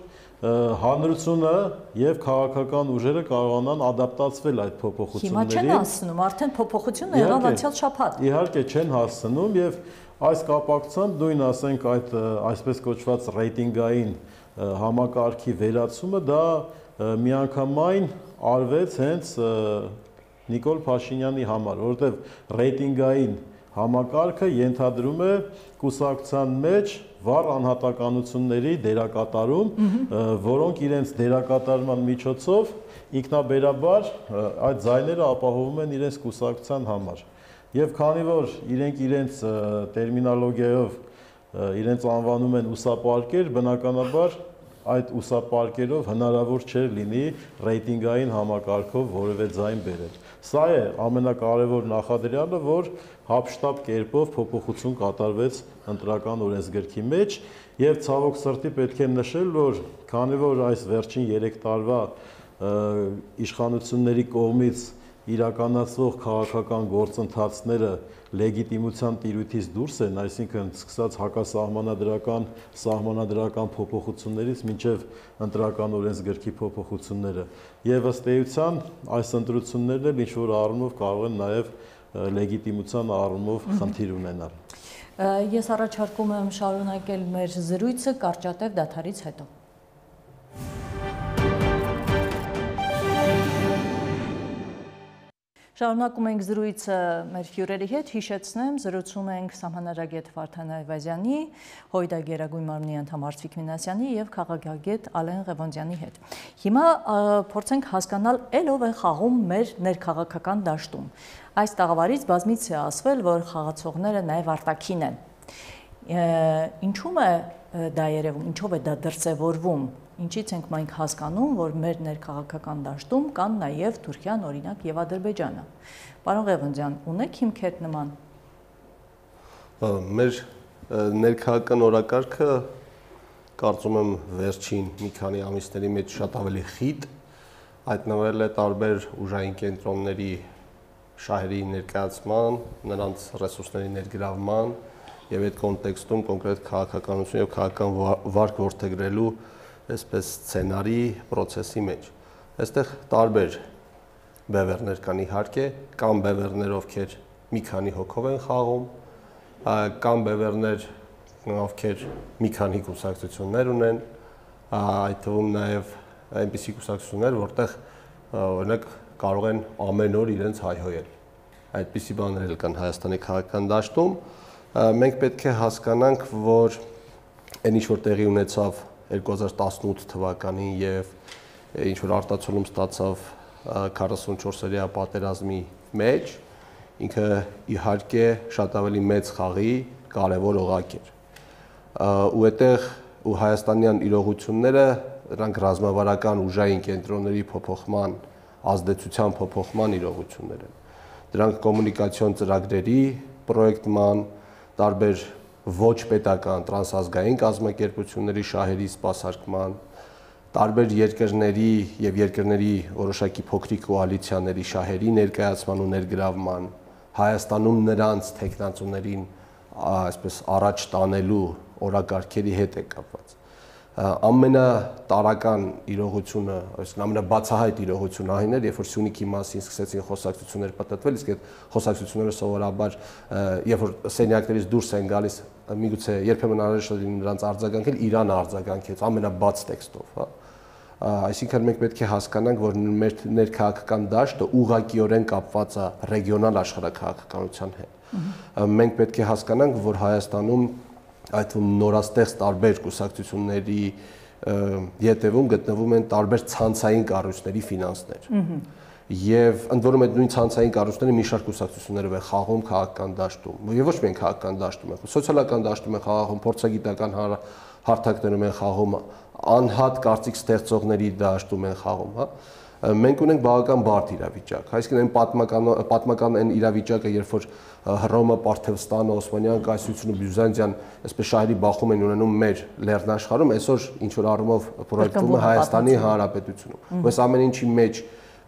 հանրությունը եւ քաղաքական ուժերը կարողանան ադապտացվել այդ փոփոխություններին։ Հիմա չեն հասնում, արդեն փոփոխությունը եղավ անցյալ շաբաթ։ Իհարկե չեն հասնում եւ այս կապակցությամբ նույն ասենք այդ այսպես կոչված ռեյտինգային համակարգի վերացումը դա միանգամայն արվեց հենց Նիկոլ Փաշինյանի համար, որովհետեւ ռեյտինգային համակարգը ենթադրում է կուսակցության մեջ վառ անհատականությունների դերակատարում, որոնք իրենց դերակատարման միջոցով ինքնաբերաբար այդ ձայները ապահովում են իրենց կուսակցության համար։ Եվ քանի որ իրենք իրենց տերմինոլոգիայով իրենց անվանում են ուսապարկեր, բնականաբար այդ ուսապարկերով հնարավոր չէր լինի ռեյտինգային համակարգով որևէ ձայն բերել։ Սա է ամենակարևոր նախադրյալը, որ հապշտապ կերպով փոփոխություն կատարվեց ընտրական օրենսգրքի մեջ եւ ցավոք սրտի պետք է նշել, որ քանի որ այս վերջին 3 տարվա իշխանությունների կողմից իրականացվող քաղաքական գործընթացները լեգիտիմության տիրույթից դուրս են, այսինքն սկսած հակասահմանադրական, սահմանադրական փոփոխություններից մինչև ընտրական օրենսգրքի փոփոխությունները եւ ըստ էության այս ընտրություններն էլ ինչ-որ առումով կարող են նաեւ լեգիտիմության առումով խնդիր ունենալ։ Ես առաջարկում եմ շարունակել մեր զրույցը կարճատև դադարից հետո։ Շարունակում ենք զրույցը մեր հյուրերի հետ, հիշեցնեմ, զրուցում ենք սահմանադրագետ Վարդան Այվազյանի, ՀՅԴ Գերագույն մարմնի անդամ Արծվիկ Մինասյանի եւ քաղաքագետ Ալեն Ղևոնդյանի հետ։ Հիմա փորձենք հասկանալ, ով է խաղում մեր ներքաղաքական դաշտում։ Այս տաղավարից բազմից է ասվել, որ խաղացողները նաեւ արտաքին են։ Ինչու՞մ է դա երևում, ինչով է դա դրսևորվում։ Ինչից ենք մենք հասկանում, որ մեր ներքաղաքական դաշտում կան նաև Թուրքիան, օրինակ, եւ Ադրբեջանը։ Պարոն Ղևոնդյան, ունեք հիմքեր նման։ Մեր ներքաղաքական օրակարգը կարծում եմ վերջին մի քանի ամիսների մեջ շատ ավելի խիտ հայտնվել է տարբեր ուժային կենտրոնների շահերի ներկայացման, նրանց ռեսուրսների ներգրավման եւ այդ կոնտեքստում կոնկրետ քաղաքականություն եւ քաղաքական վարք որդեգրելու այսպես սցենարի process-ի մեջ։ Այստեղ տարբեր բևեռներ կան իհարկե, կան բևեռներ, ովքեր մի քանի հոգով են խաղում, կան բևեռներ, ովքեր մի քանի կուսակցություններ ունեն, այդ թվում նաև այնպիսի կուսակցություններ, որտեղ օրինակ կարող են ամեն օր իրենց հայհոյել։ Այդպիսի բաներ էլ կան Հայաստանի քաղաքական դաշտում։ Մենք պետք է հասկանանք, որ այն ինչ որ տեղի ունեցավ 2018 թվականին եւ ինչ որ արտացոլում ստացավ 44-օրյա պատերազմի մեջ, ինքը իհարկե շատ ավելի մեծ խաղի կարևոր օղակ էր։ Ու այդտեղ ու հայաստանյան իրողությունները դրանք ռազմավարական ուժային կենտրոնների փոփոխման, ազդեցության փոփոխման իրողություններ են։ Դրանք կոմունիկացիոն ծրագրերի պրոյեկտման, տարբեր ոչ պետական տրանսազգային կազմակերպությունների շահերի սպասարկման, տարբեր երկրների եւ երկրների որոշակի փոքրիկ կոալիցիաների շահերի ներկայացման ու ներգրավման, Հայաստանում նրանց տեխնացուներին այսպես առաջ տանելու օրակարգերի հետ է կապված։ Ամենատարական իրողությունը, այսինքն ամենաբացահայտ իրողությունը այն էր, երբ որ Սյունիքի մասին սկսեցին խոսակցություններ պատտվել, իսկ այդ խոսակցությունները սովորաբար երբ որ սենյակներից դուրս են գալիս, միգուցե երբեմն անհրաժեշտ է նրանց արձագանքել, Իրանը արձագանքեց ամենաբաց տեքստով, հա։ Այսինքն մենք պետք է հասկանանք, որ մեր ներքաղաքական դաշտը ուղղակիորեն կապված է ռեգիոնալ աշխարհաքաղաքականության հետ։ Մենք պետք է հասկանանք, որ Հայաստանում այդ նորաստեղծ տարբեր կուսակցությունների ետևում գտնվում են տարբեր ցանցային կառույցների ֆինանսներ։ Եվ ընդ որում այդ նույն ցանցային կառույցները մի շարք կուսակցություններով են խաղում քաղաքական դաշտում։ Եվ ոչ միայն քաղաքական դաշտում են, սոցիալական դաշտում են խաղում, փորձագիտական հարթակներում են խաղում, անհատ կարծիք ստեղծողների դաշտում են խաղում, հա։ Մենք ունենք բավական բարդ իրավիճակ, այսինքն այն պատմական այն իրավիճակը, երբ որ Հռոմը, Պարթևստանը, Օսմանյան կայսրությունը, Բյուզանդիան, այսպես շահերի բախում են ունենում մեր լեռնաշխարհում, այսօր ինչ որ առումով պրոյեկտվում է Հայաստանի Հանրապետությունում։ Այս ամեն ինչի մեջ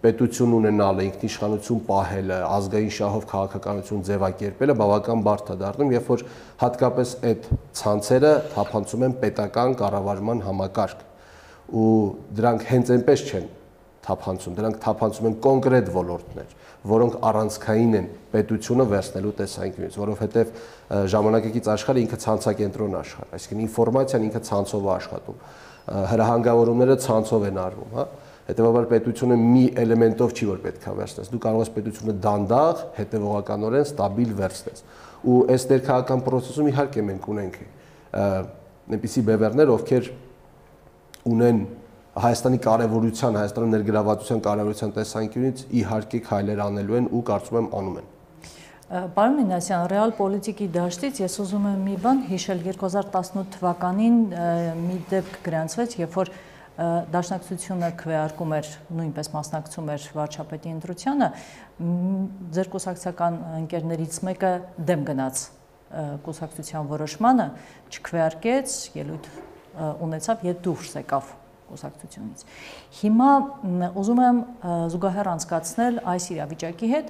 պետություն ունենալը, ինքնիշխանություն պահելը, ազգային շահով քաղաքականություն ձևակերպելը բավական բարդ է դառնում, երբ որ հատկապես այդ ցանցերը թափանցում են պետական կառավարման համակարգ, ու դրանք հենց այնպես չեն թափանցում, դրանք թափանցում են կոնկրետ ոլորտներ, որոնք առանցքային են պետությունը վերցնելու տեսանկյունից, որովհետև ժամանակակից աշխարհը ինքը ցանցակենտրոն աշխարհ, այսինքն ինֆորմացիան ինքը ցանցով է աշխատում, հրահանգավորումները ցանցով են արվում, հա։ Հետևաբար պետությունը մի էլեմենտով չի որ պետք է վերցնես, դու կարող ես պետությունը դանդաղ, հետևողականորեն ստաբիլ վերցնես, ու այս ներքաղաքական process-ում իհարկե մենք ունենք այնպիսի բևեռներ, ովքեր ունեն Հայաստանի կարևորության, Հայաստանի ներգրավվածության կարևորության տեսանկյունից իհարկե քայլեր անելու են ու կարծում եմ անում են։ Պարոն Մինասյան, ռեալ պոլիտիկի դաշտից ես ուզում եմ մի բան հիշել 2018 թվականին մի դեպք գրանցվեց, երբ որ Դաշնակցությունը քվեարկում էր, նույնպես մասնակցում էր վարչապետի ընտրությանը, ձեր կուսակցական ընկերներից մեկը դեմ գնաց կուսակցության որոշմանը, չքվեարկեց, ելույթ ունեցավ եւ դուրս եկավ կուսակցությունից։ Հիմա ուզում եմ զուգահեռ անցկացնել այս իրավիճակի հետ,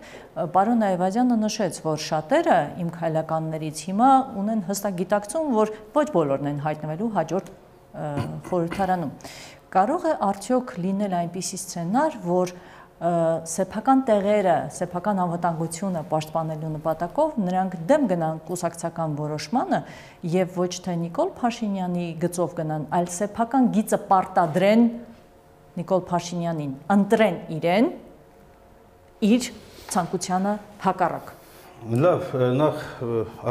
պարոն Այվազյանը նշեց, որ շատերը իմ քայլականներից հիմա ունեն հստակ գիտակցում, որ ոչ բոլորն են հայտնվելու հաջորդ խորհրդարանում։ Կարող է արդյոք լինել այնպիսի սցենար, որ սեփական տեղերը, սեփական անվտանգությունը պաշտպանելու նպատակով նրանք դեմ գնան կուսակցական որոշմանը եւ ոչ թե Նիկոլ Փաշինյանի գծով գնան, այլ սեփական գիծը պարտադրեն Նիկոլ Փաշինյանին, ընտրեն իրեն իր ցանկությանը հակառակ։ Լավ, նախ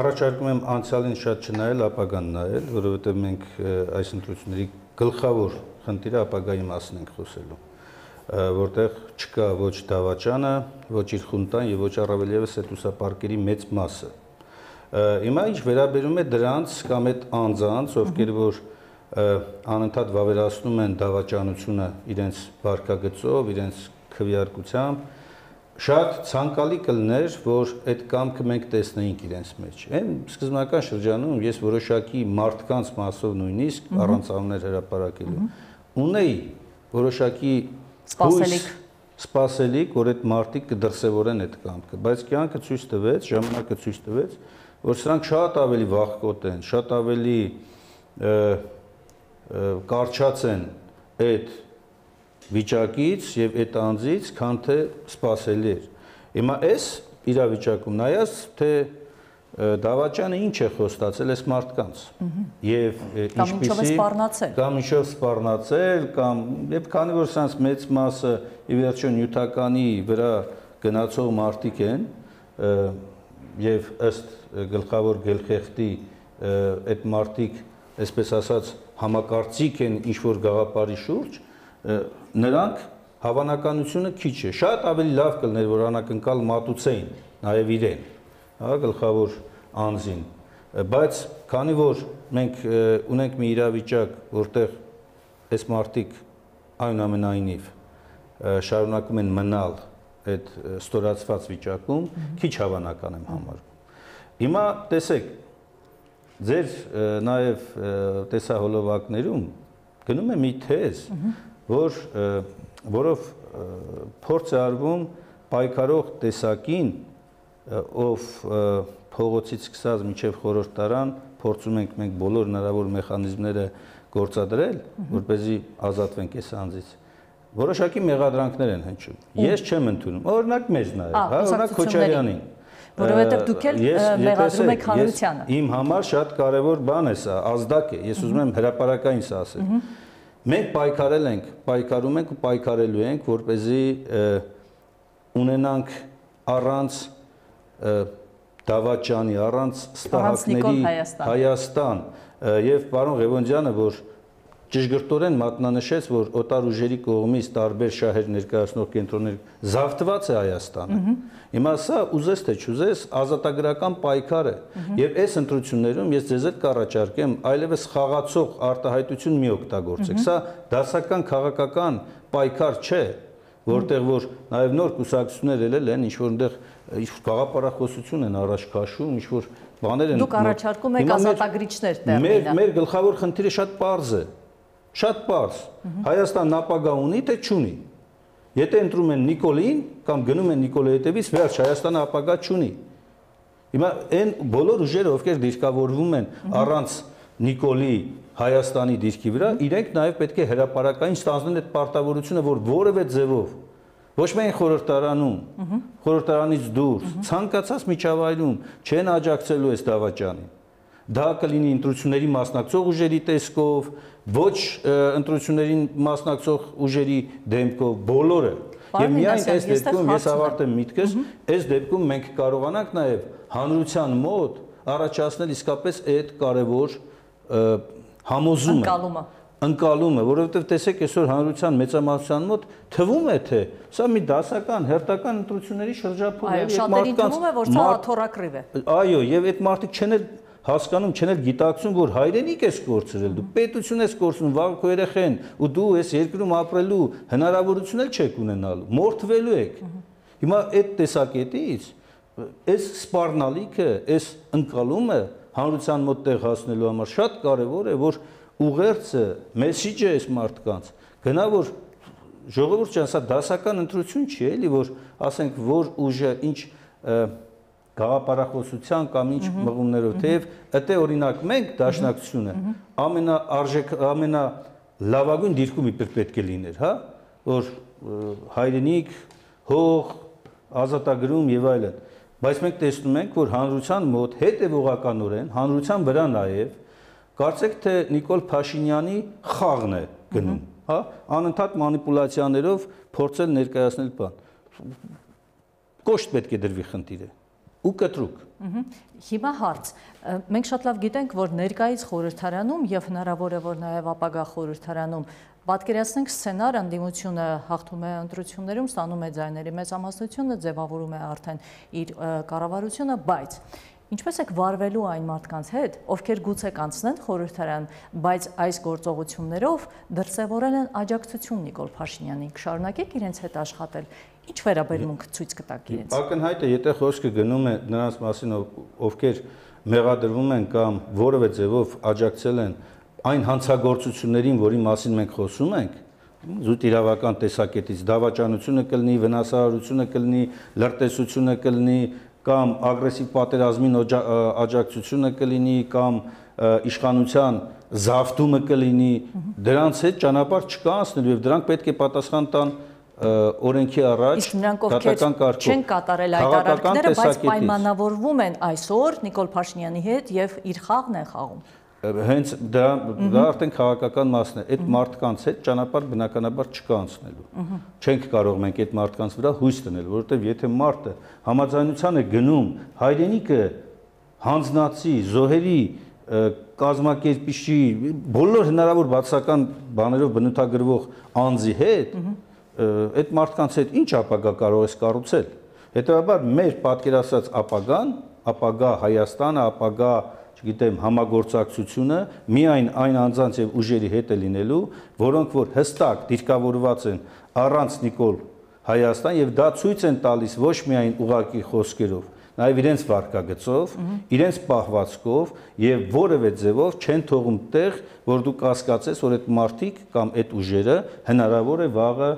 առաջարկում եմ անցյալին շատ չնայել, ապագան նայել, որովհետև մենք այս ընտրությունների գլխավոր խնդիրը ապագայի մասին ենք խոսելու, որտեղ չկա ոչ դավաճանը, ոչ իր խունտան եւ ոչ առավել եւս այդ ուսապարկերի մեծ մասը։ Հիմա ինչ վերաբերում է դրանց կամ այդ անձանց, ովքեր որ անընդհատ վավերացնում են դավաճանությունը իրենց վարկագծով, իրենց քվեարկությամբ, շատ ցանկալի կլներ, որ այդ կամքը մենք տեսնեինք իրենց մեջ։ Այն սկզբնական շրջանում ես որոշակի մարդկանց մասով նույնիսկ առանց անուններ հրապարակելու ունեի որոշակի սպասելիք, որ այդ մարդիկ կդրսևորեն այդ կամքը, բայց կյանքը ցույց տվեց, ժամանակը ցույց տվեց, որ սրանք շատ ավելի վախկոտ են, շատ ավելի կարճած են այդ վիճակից եւ այդ անձից, քան թե սпасելի էր։ Հիմա այս իրավիճակում նայած թե դավաճանը ինչ է խոստացել այս մարդկանց եւ ինչպիսի կամ ինչով սպառնացել կամ եւ քանի որ սրանց մեծ մասը ի վերջո նյութականի վրա գնացող մարդիկ են եւ ըստ գլխավոր գլխեղտի այդ մարդիկ այսպես ասած համակարծիք են ինչ որ գաղափարի շուրջ նրանք հավանականությունը քիչ է, շատ ավելի լավ կլներ, որ անակնկալ մատուցեին նաև իրեն, հա, գլխավոր անձին, բայց քանի որ մենք ունենք մի իրավիճակ, որտեղ այս մարդիկ այնուամենայնիվ շարունակում են մնալ այդ ստորացված վիճակում, քիչ հավանական եմ համարում։ Հիմա տեսեք, ձեր նաև տեսահոլովակներում գնում է մի թեզ, որով փորձ է արվում պայքարող տեսակին, ով փողոցից սկսած մինչև խորհրդարան փորձում ենք մենք բոլոր հնարավոր մեխանիզմները գործադրել, որպեսզի ազատվենք այս անձից։ Որոշակի մեղադրանքներ են հնչում։ Ես չեմ ընդունում։ Օրինակ մեզ նայեք, հա, օրինակ Քոչարյանին։ Որովհետև դուք էլ մեղադրում եք հանրությանը։ Իմ համար շատ կարևոր բան է սա, ազդակ է։ Ես ուզում եմ հրապարակային սա ասել։ Մենք պայքարել ենք, պայքարում ենք ու պայքարելու ենք, որպեսզի ունենանք առանց դավաճանի, առանց ստահակների Հայաստան։ Եվ պարոն Ղևոնդյանը, որ ճշգրտորեն մատնանշեց, որ օտար ուժերի կողմից տարբեր շահեր ներկայացնող կենտրոններ զավթված է Հայաստանը։ Հիմա սա ուզես թե չուզես ազատագրական պայքար է, եւ այս ընտրություններում ես ձեզ հետ կառաջարկեմ այլևս խաղացող արտահայտություն մի օգտագործեք։ Սա դասական քաղաքական պայքար չէ, որտեղ որ նաեւ նոր կուսակցություններ ելել են, ինչ որ այնտեղ գաղափարախոսություն են առաջ քաշում, ինչ որ բաներ են։ Դուք առաջարկում եք ազատագրիչներ տեղին։ Մեր գլխավոր խնդիրը շատ պարզ է։ Շատ պարզ։ Հայաստանն ապագա ունի, թե չունի։ Եթե ընտրում են Նիկոլին կամ գնում են Նիկոլի հետևից, վերջ Հայաստանը ապագա չունի։ Հիմա այն բոլոր ուժերը, ովքեր դիրքավորվում են առանց Նիկոլի Հայաստանի դիրքի վրա, իրենք նաև պետք է հրապարակային ստանձնեն այդ պարտավորությունը, որ որևէ ձևով ոչ միայն խորհրդարանում, խորհրդարանից դուրս, ցանկացած միջավայրում չեն աջակցելու այս դավաճանին։ Դա կլինի ընտրությունների մասնակցող ուժերի տեսքով, ոչ ընտրություններին մասնակցող ուժերի դեմքով, բոլորը։ Եվ միայն այս դեպքում ես ավարտեմ միտքս, այս դեպքում մենք կարողանանք նաև հանրության մոտ առաջացնել իսկապես այդ կարևոր համոզումը, ընկալումը, որովհետև տեսեք այսօր հանրության մեծամասնության մոտ թվում է թե սա մի դասական, հերթական ընտրությունների շրջափուլ է, եւ շատերին թվում է, որ սա աթոռակրիվ է։ Այո, եւ այդ մարդիկ չեն հասկանում, չեն գիտակցում, որ հայրենիք ես կորցրել, դու պետություն ես կորցնում, վաղ քո երեխեն, ու դու այս երկրում ապրելու հնարավորություն էլ չեք ունենալու, մորթվելու եք։ Հիմա այդ տեսակետից այս սպառնալիքը, այս ընկալումը հանրության մոտ տեղ հասնելու համար շատ կարևոր է, որ ուղերձը, մեսիջը այս մարդկանց գնա, որ ժողովուրդ ջան, սա դասական ընտրություն չի, էլի, որ ասենք, որ ուժը ինչ գաղափարախոսության կամ ինչ մղումներով, թեև այդտեղ օրինակ մենք դաշնակցությունը ամենալավագույն դիրքում իբր պետք է լիներ, հա, որ հայրենիք, հող, ազատագրում եւ այլն, բայց մենք տեսնում ենք, որ հանրության մոտ հետևողականորեն, հանրության վրա նաեւ կարծեք թե Նիկոլ Փաշինյանի խաղն է գնում, հա, անընդհատ մանիպուլյացիաներով փորձել ներկայացնել բան։ Կոշտ պետք է դրվի խնդիրը։ Ու կտրուկ։ Հիմա հարց, մենք շատ լավ գիտենք, որ ներկայից խորհրդարանում եւ հնարավոր է, որ նաեւ ապագա խորհրդարանում պատկերացնենք սցենար, անդիմությունը հաղթում է ընտրություններում, ստանում է ձայների մեծամասնությունը, ձևավորում է արդեն իր կառավարությունը, բայց ինչպես եք վարվելու այն մարդկանց հետ, ովքեր գուցե կանցնեն խորհրդարան, բայց այս գործողություններով դրսևորել են աջակցություն Նիկոլ Փաշինյանին, կշարունակեք իրենց հետ աշխատել, ինչ վերաբերմունք ցույց կտաք իրենց։ Ակնհայտ է, եթե խոսքը գնում է նրանց մասին, ովքեր մեղադրվում են կամ որևէ ձևով աջակցել են այն հանցագործություններին, որի մասին մենք խոսում ենք, զուտ իրավական տեսակետից դավաճանությունը կլինի, վնասահարությունը կլինի, լրտեսությունը կլինի, կամ ագրեսիվ պատերազմին աջակցությունը կլինի, կամ իշխանության զավթումը կլինի, դրանց հետ ճանապարհ չկա անցնելու եւ դրանք պետք է պատասխան տան օրենքի առաջ դատական կարգով։ Չեն կատարել այդ արարքները, բայց պայմանավորվում են այսօր Նիկոլ Փաշինյանի հետ եւ իր խաղն են խաղում։ Հենց դա արդեն քաղաքական մասն է, այդ մարդկանց հետ ճանապարհ բնականաբար չկա անցնելու։ Չենք կարող մենք այդ մարդկանց վրա հույս դնել, որովհետև եթե մարդը համաձայնության է գնում հայրենիքը հանձնածի, զոհերի կազմակերպիչի, բոլոր հնարավոր բացական բաներով բնութագրվող անձի հետ, այդ մարդկանց հետ ինչ ապագա կարող ես կառուցել։ Հետևաբար մեր պատկերացած ապագան, ապագա Հայաստանը, ապագա չգիտեմ, համագործակցությունը միայն այն անձանց եւ ուժերի հետ է լինելու, որոնք որ հստակ դիրքավորված են առանց Նիկոլ Հայաստան եւ դա ցույց են տալիս ոչ միայն ուղակի խոսքերով, նաեւ իրենց վարկագծով, իրենց պահվածքով եւ որևէ ձևով չեն թողում տեղ, որ դու կասկածես, որ այդ մարդիկ կամ այդ ուժերը հնարավոր է վաղը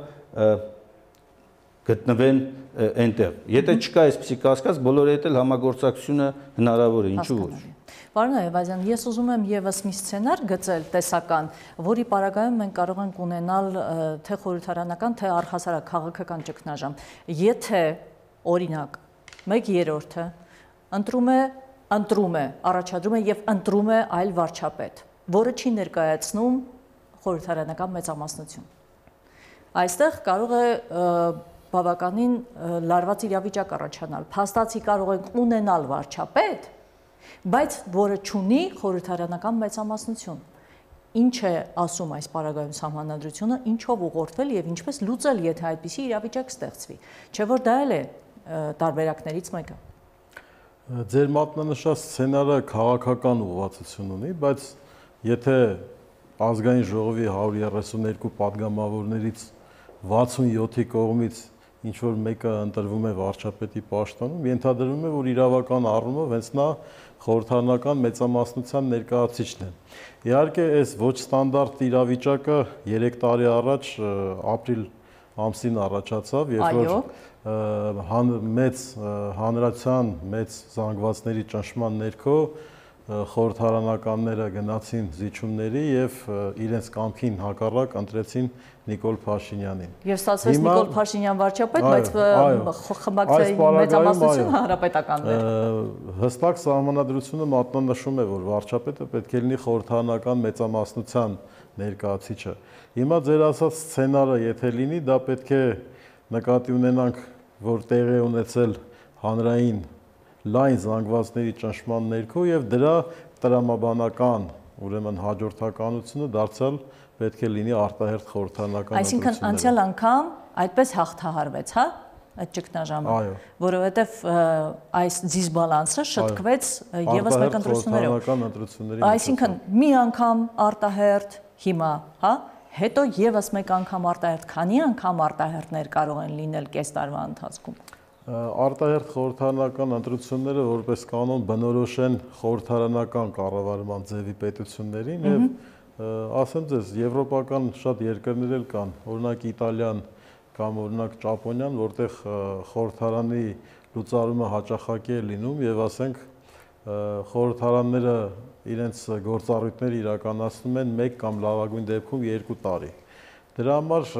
գտնվեն այնտեղ։ Եթե չկա այսպիսի կասկած, բոլորի հետ էլ համագործակցությունը հնարավոր է, ինչու ոչ։ Պարոն Այվազյան, ես ուզում եմ եւս մի սցենար գծել տեսական, որի պարագայում մենք կարող ենք ունենալ թե խորհրդարանական, թե առհասարակ քաղաքական ճգնաժամ։ Եթե օրինակ 1/3-ը ընտրում է, առաջադրում է եւ ընտրում է այլ վարչապետ, որը չի ներկայացնում խորհրդարանական մեծամասնություն։ Այստեղ կարող է բավականին լարված իրավիճակ առաջանալ։ Փաստացի կարող ենք ունենալ վարչապետ, բայց որը չունի խորհրդարանական մեծամասնություն։ ինչ է ասում այս պարագայում սահմանադրությունը, ինչով ուղղորդվել եւ ինչպես լուծել, եթե այդպիսի իրավիճակ ստեղծվի։ Չէ՞ որ դա էլ է տարբերակներից մեկը։ Ձեր մատնանշած սցենարը քաղաքական ուղղվածություն ունի, բայց եթե ազգային ժողովի 132 падգամավորներից 67-ի կողմից ինչ որ մեկը ընտրվում է վարչապետի պաշտոնում, ենթադրվում է, որ իրավական առումով հենց նա խորհրդարանական մեծամասնության ներկայացուցիչն է։ Իհարկե, այս ոչ ստանդարտ իրավիճակը 3 տարի առաջ ապրիլ ամսին առաջացավ, երբ որ մեծ հանրության, մեծ զանգվածների ճնշման ներքո խորհրդարանականները գնացին զիջումների եւ իրենց կամքին հակառակ ընտրեցին Նիկոլ Փաշինյանին։ Եվ ստացվեց Նիկոլ Փաշինյան վարչապետ, բայց խմբակցային մեծամասնությունը հանրապետականն էր։ Հստակ սահմանադրությունը մատնանշում է, որ վարչապետը պետք է լինի խորհրդարանական մեծամասնության ներկայացուցիչը։ Հիմա ձեր ասած սցենարը եթե լինի, դա պետք է նկատի ունենանք, որ տեղի է ունեցել հանրային լայն զանգվածների ճնշման ներքո եւ դրա տրամաբանական, ուրեմն հաջորդականությունը դարձյալ պետք է լինի արտահերթ խորհրդարանական ընտրությունները։ Այսինքն անցյալ անգամ այդպես հաղթահարվեց, հա, այդ ճգնաժամը, որովհետեւ այս դիսբալանսը շտկվեց եւս մեկ ընտրություններով։ Այսինքն մի անգամ արտահերթ, հիմա, հա, հետո եւս մեկ անգամ արտահերթ, քանի անգամ արտահերթներ կարող են լինել կես տարվա ընթացքում։ Արտահերթ խորհրդարանական ընտրությունները որպես կանոն բնորոշ են խորհրդարանական կառավարման ձևի պետություններին եւ ասեմ ձեզ, եվրոպական շատ երկրներ էլ կան, օրինակ Իտալիան կամ օրինակ Ճապոնիան, որտեղ խորհրդարանի լուծարումը հաճախակի է լինում եւ ասենք խորհրդարանները իրենց գործառույթները իրականացնում են 1 կամ լավագույն դեպքում 2 տարի։ Դրա համար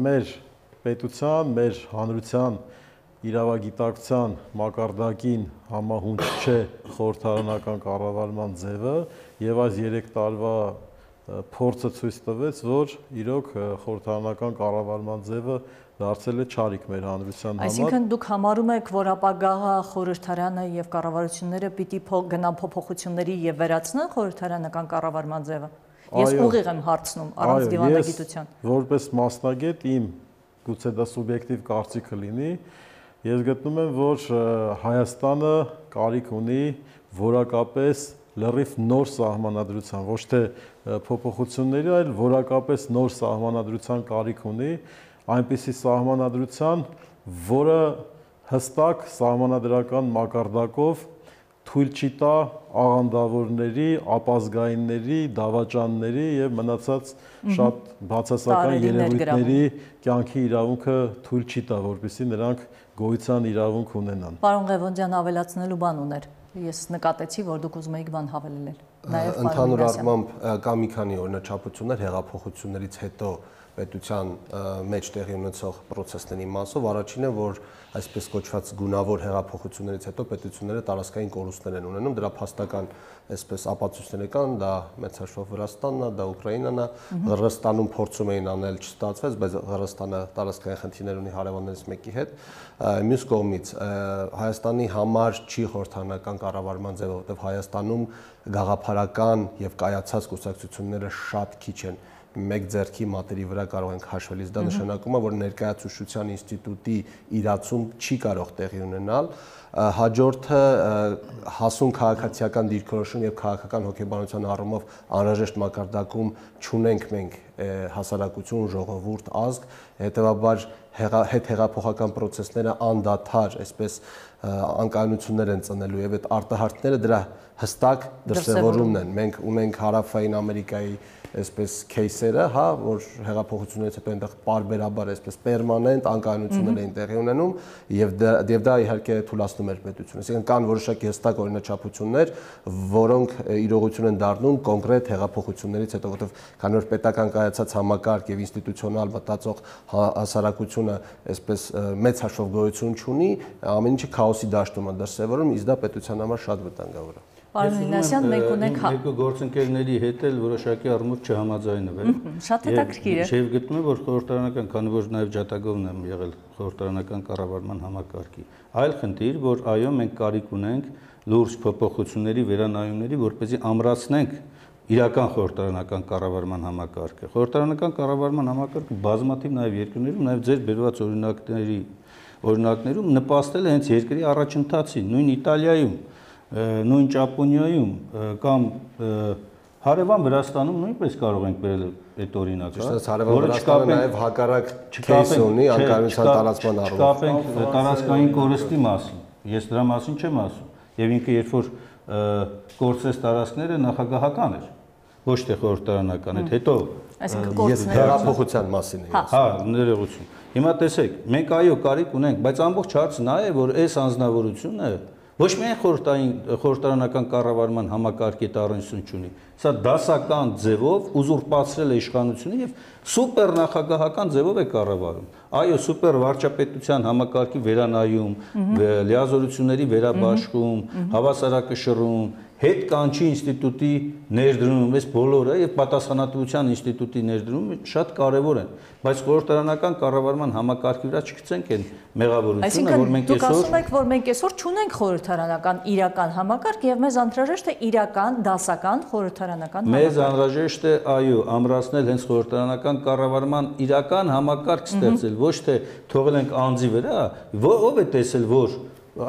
մեր պետության, մեր հանրության իրավագիտակցության մակարդակին համահունչ չէ խորհրդարանական կառավարման ձևը եւ այս 3 տարվա փորձը ցույց տվեց, որ իրոք խորհրդարանական կառավարման ձևը դարձել է չարիք մեր հանրության համար։ Այսինքն դուք համարում եք, որ ապագա խորհրդարանը եւ կառավարությունները պիտի գնան փոփոխությունների եւ վերացնեն խորհրդարանական կառավարման ձևը։ Ես ուղիղ եմ հարցնում առանց դիվանագիտության։ Որպես մասնագետ իմ գուցե դա սուբյեկտիվ կարծիքը լինի, ես գտնում եմ, որ Հայաստանը կարիք ունի որակապես լրիվ նոր սահմանադրության, ոչ թե փոփոխությունների, այլ որակապես նոր սահմանադրության կարիք ունի, այնպիսի սահմանադրության, որը հստակ սահմանադրական մակարդակով թույլ չի տա աղանդավորների, ապազգայինների, դավաճանների եւ մնացած շատ բացասական երևույթների կյանքի իրավունքը թույլ չի տա, որպեսզի նրանք գոյության իրավունք ունենան։ Պարոն Ղևոնդյան ավելացնելու բան ուներ։ Ես նկատեցի, որ դուք ուզում եք բան հավելել։ Նաեւ ընդհանուր առմամբ կա մի քանի օրինաչափություններ հեղափոխություններից հետո պետության մեջ տեղի ունեցող process-ների մասով առաջինը, որ այսպես կոչված գունավոր հեղափոխություններից հետո պետությունները տարածքային կորուստներ են ունենում, դրա փաստական այսպես ապացույցներ կան, դա մեծ հաշվով Վրաստանն է, դա Ուկրաինան է, Հռոստանում փորձում էին անել, չստացվեց, բայց Հռոստանը տարածքային խնդիրներ ունի հարևաններից մեկի հետ։ Մյուս կողմից Հայաստանի համար չի խորհրդարանական կառավարման ձևը, որովհետև Հայաստանում գաղափարական եւ կայացած կուսակցությունները շատ քիչ են։ Մեկ ձեռքի մատերի վրա կարող ենք հաշվել, դա նշանակում է, որ ներկայացուցչության ինստիտուտի իրացում չի կարող տեղի ունենալ։ Հաջորդը հասուն քաղաքացիական դիրքորոշում եւ քաղաքական հոգեբանության առումով անհրաժեշտ մակարդակում չունենք մենք հասարակություն, ժողովուրդ, ազգ, հետեւաբար հետհեղափոխական process-ները անդադար, այսպես անկայունություններ են ծնելու եւ այդ արտահարտները դրա հստակ դրսևորումն են։ Մենք ունենք Հարավային Ամերիկայի այսպես кейսերը, հա, որ հեղափոխություններից հետո այնտեղ պարբերաբար այսպես պերմանենտ անկայունություններ էին տեղի ունենում եւ դա իհարկե թույլատնում էր պետությունը։ Այսինքն կան որոշակի հստակ օրինաչափություններ, որոնք իրողություն են դառնում կոնկրետ հեղափոխություններից հետո, որովհետեւ քանի որ պետական կայացած համակարգ եւ ինստիտուցիոնալ մտածող հասարակությունը այսպես մեծ հաշվով գոյություն չունի, ամեն ինչը քաոսի դաշտում է դրսևորում, իսկ դա պետության համար շատ վտանգավոր է։ Պարոն Մինասյան, մենք ունենք երկու գործընկերների հետ էլ որոշակի առումով չհամաձայնվել։ Շատ հետաքրքիր է։ Եվ գտնում եմ, որ խորհրդարանական, քանի որ նաև ջատագովն եմ եղել խորհրդարանական կառավարման համակարգի, այլ խնդիր, որ այո, մենք կարիք ունենք լուրջ փոփոխությունների, վերանայումների, որպեսզի ամրացնենք իրական խորհրդարանական կառավարման համակարգը։ Խորհրդարանական կառավարման համակարգը բազմաթիվ նաև երկրներում, նաև ձեր բերված օրինակներում նպաստել է հենց երկրի առաջընթացին, նույն Իտալիայում, նույն Ճապոնիայում կամ հարևան Վրաստանում նույնպես կարող ենք բերել այդ օրինակը, որը Վրաստանը նաև հակառակ кейս ունի անկայունության տարածման առումով։ Չկապենք տարածքային կորստի մասին։ Ես դրա մասին չեմ ասում։ Եվ ինքը երբ որ կորցրեց տարածքները նախագահական էր, ոչ թե խորհրդարանական, այդ հետո ես հեղափոխության մասին եմ ասում։ Հա, ներողություն։ Հիմա տեսեք, մենք այո կարիք ունենք, բայց ամբողջ հարցը նա է, որ այս անձնավորությունը ոչ միայն խորհրդարանական կառավարման համակարգի տարօրինություն չունի, սա դասական ձևով ուզուրպացրել է իշխանությունը եւ սուպեր նախագահական ձևով է կառավարում։ Այո, սուպեր վարչապետության համակարգի վերանայում, լիազորությունների վերաբաշխում, հավասարակշռում, հետ կանչի ինստիտուտի ներդրում, այս բոլորը եւ պատասխանատվության ինստիտուտի ներդրումը շատ կարեւոր են, բայց խորհրդարանական կառավարման համակարգի վրա չգցենք այն մեղավորությունը, որ մենք այսինքն դուք ասում եք, որ մենք այսօր չունենք խորհրդարանական իրական համակարգ եւ մեզ անհրաժեշտ է իրական դասական խորհրդարանական համակարգ։ Մեզ անհրաժեշտ է, այո, ամրացնել հենց խորհրդարանական կառավարման իրական համակարգ ստեղծել, ոչ թե թողել ենք անձի վրա, ով է տեսել, որ,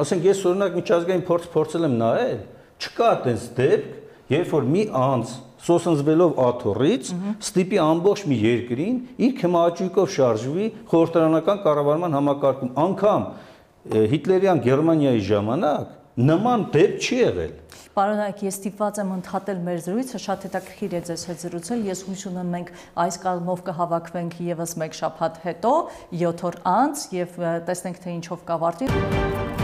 ասենք ես օրինակ միջազգային փորձել եմ նայել, չկա այդպես դեպք, երբ որ մի անձ սոսնձվելով աթոռից ստիպի ամբողջ մի երկրին իր քմահաճույքով շարժվի խորհրդարանական կառավարման համակարգում, անգամ հիտլերյան Գերմանիայի ժամանակ նման դեպք չի եղել։ Պարոն Նայք, ես ստիպված եմ ընդհատել մեր զրույցը, շատ հետաքրքիր է ձեզ հետ զրուցել, ես հույս ունեմ մենք այս կազմով կհավաքվենք եւս մեկ շաբաթ հետո, 7 օր անց եւ տեսնենք թե ինչով կավարտի։